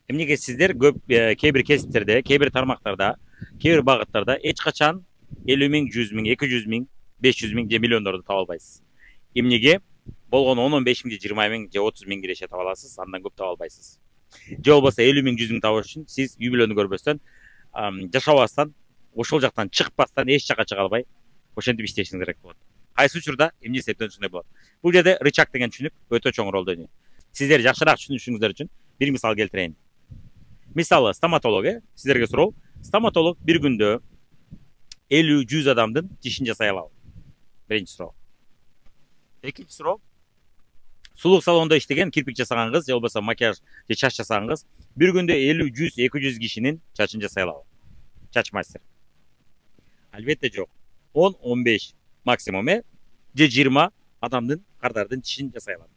Эмнеге сиздер көп кээ бир кесиптерде, кээ бир тармактарда, кээ бир багыттарда эч качан 50 миң, 100 миң, 200 миң, 500 миң же миллиондорду таба албайсыз. Эмнеге? Болгону 10-15 миң, 20 миң же 30 миң киреше таба аласыз, андан көп таба албайсыз. Же болбосо 50 миң, 100 миң табыш үчүн сиз үй бүлөнү көрбөстөн, жашабастан, ошол жактан чыкпастан, эч жака чыга албай, ошентип иштешиңиз керек болот. Кайсы учурда эмне себептен ушундай болот? Бул жерде рычаг деген түшүнүк өтө чоң ролду ойнойт. Сиздер жакшыраак түшүнүшүңүздөр үчүн бир мисал келтирейин. Мисалы, стоматолог, сиздерге суроо. Стоматолог бир күндө 50-100 адамдын тишин жасай алабы? Биринчи суроо. Экинчи суроо. Сулук салонунда иштеген, кирпик жасаган кыз, же болбосо макияж же чач жасаган кыз бир күндө 50, 100, 200 кишинин чачын жасай алабы? Чач мастер. Албетте жок. 10-15 максимум, же 20 адамдын кардардын тишин жасай алат.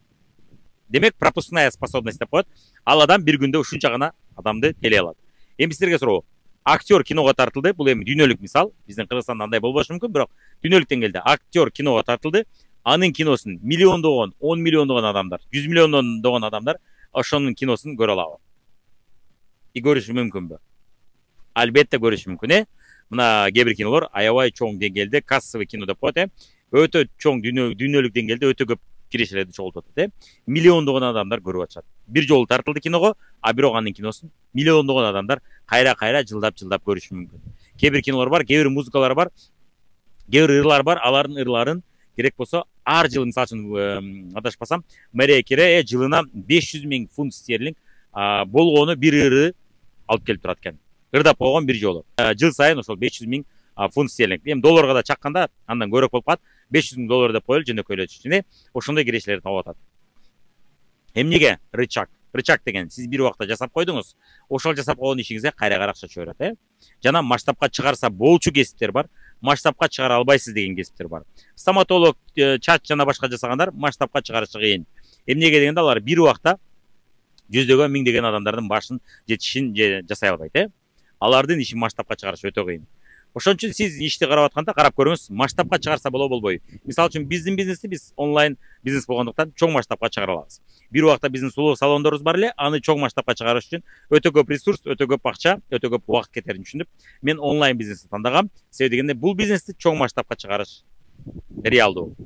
Демек, пропускная способность деп коет. Ал адам бир күндө ушунча гана адамды телей алат. Эми сиздерге суроо. Актер киного тартылды. Бул эми дүйнөлүк мисал. Биздин Кыргызстанда андай болбошу мүмкүн, бирок дүйнөлүк деңгээлде актер киного тартылды. Анын киносун миллиондогон, 10 миллиондогон адамдар, 100 миллиондогон адамдар ошонун киносун көрө алабы? И көрүшү мүмкүнбү? Албетте көрүшү мүмкүн, Мына кээ бир кинолор аябай чоң деңгээлде кассовый кино деп коет, Өтө чоң дүйнөлүк деңгээлде өтө көп кирешелерди чогултуп атат, Миллиондогон адамдар көрүп атышат. Бир жолу тартылды киного, а бирок анын киносун миллиондогон адамдар кайра жылдап көрүшү мүмкүн. Кээ бир кинолор бар, кээ бир музыкалар бар, кээ бир ырлар бар, алардын ырларын керек болсо ар жылы, мисалы үчүн адашпасам, Мария Кере жылына 500 миң фунт стерлинг болгону бир ыры алып келип турат экен. Ырдап койгон бир жолу. Жыл сайын ошол 500 миң фунт стерлинг. Эми долларга да чакканда андан көбүрөөк болуп калат. 500 миң доллар деп коелу, жөнөкөйлөтүш үчүн, ошондой кирешелерди таап атат. Эмнеге рычаг? Рычаг деген сиз бир убакта жасап койдуңуз, ошол жасап койгон ишиңизге кайра акча түшө берет, Жана масштабка чыгарса болчу кесиптер бар, масштабка чыгара албайсыз деген кесиптер бар. Стоматолог, чач жана башка жасагандар масштабка чыгарышы кыйын. Эмнеге дегенде алар бир убакта жүздөгөн, миңдеген адамдардын башын же тишин жасай албайт, Алардын ишин масштабка чыгарыш өтө кыйын. Ошон үчүн сиз ишти карап атканда карап көрүңүз, масштабка чыгарса болобойбу? Мисалы үчүн биздин бизнести биз онлайн бизнес болгондуктан чоң масштабка чыгара алабыз. Бир убакта биздин сулуу салондорубуз бар аны чоң масштабка чыгарыш үчүн өтө көп ресурс, өтө көп акча, өтө көп убакыт кетерин түшүнүп, мен онлайн бизнести тандагам. Себеби дегенде бул бизнести чоң масштабка чыгарыш реалдуу.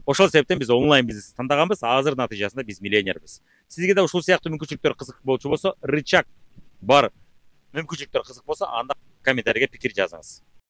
Ошол себептен биз онлайн бизнести тандаганбыз. Азыр натыйжасында биз миллионербиз. Сизге да ушул сыяктуу мүмкүнчүлүктөр кызык болчу болсо, рычаг бар мүмкүнчүлүктөр кызык болсо, анда комментарийге пикир жазыңыз.